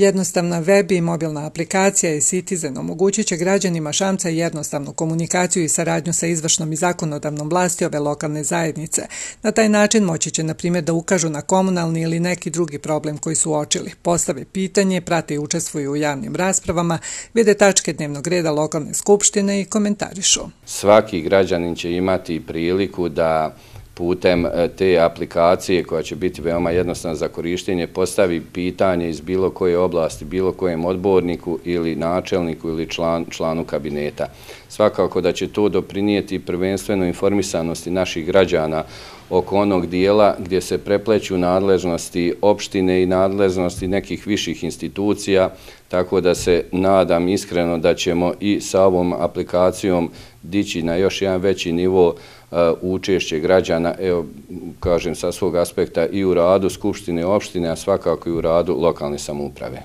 Jednostavna web i mobilna aplikacija e-Citizen omogućit će građanima Šamca jednostavnu komunikaciju i saradnju sa izvršnom i zakonodavnom vlasti ove lokalne zajednice. Na taj način moći će, na primjer, da ukažu na komunalni ili neki drugi problem koji su uočili, postave pitanje, prate i učestvuju u javnim raspravama, vide tačke dnevnog reda lokalne skupštine i komentarišu. Svaki građanin će imati priliku da putem te aplikacije, koja će biti veoma jednostavna za korištenje, postavi pitanje iz bilo koje oblasti, bilo kojem odborniku ili načelniku ili članu kabineta. Svakako da će to doprinijeti prvenstveno informisanosti naših građana oko onog dijela gdje se prepleću nadležnosti opštine i nadležnosti nekih viših institucija, tako da se nadam iskreno da ćemo i sa ovom aplikacijom dići na još jedan veći nivo učešće građana, evo, kažem, sa svog aspekta i u radu Skupštine opštine, a svakako i u radu lokalne samouprave.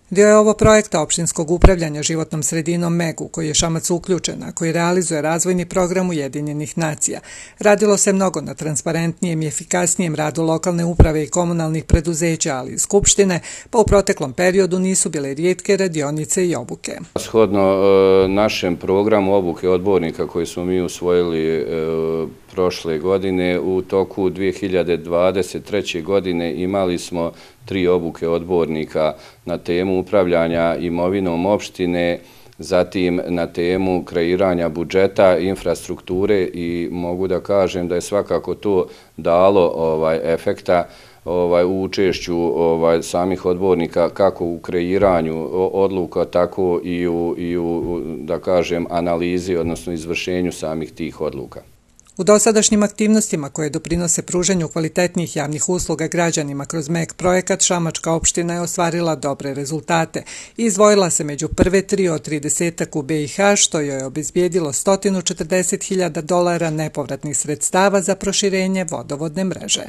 Dio je ovo projekta opštinskog upravljanja životnom sredinom MEG-u, koji je Šamac uključen, a koji realizuje razvojni program Ujedinjenih nacija. Radilo se mnogo na transparentnijem i efikasnijem radu lokalne uprave i komunalnih preduzeća, ali i skupštine, pa u proteklom periodu nisu bile rijetke radionice i obuke. Shodno našem programu obuke odbornika koji smo mi usvojili prošle godine, u toku 2023. godine imali smo 3 obuke odbornika na temu upravljanja imovinom opštine, zatim na temu kreiranja budžeta, infrastrukture, i mogu da kažem da je svakako to dalo efekta u učešću samih odbornika kako u kreiranju odluka, tako i u, da kažem, analizi, odnosno izvršenju samih tih odluka. U dosadašnjim aktivnostima koje doprinose pružanju kvalitetnijih javnih usluga građanima kroz MEG projekat, Šamačka opština je ostvarila dobre rezultate i izdvojila se među prve 3 od 30 u BiH, što joj je obezbijedilo $140.000 nepovratnih sredstava za proširenje vodovodne mreže.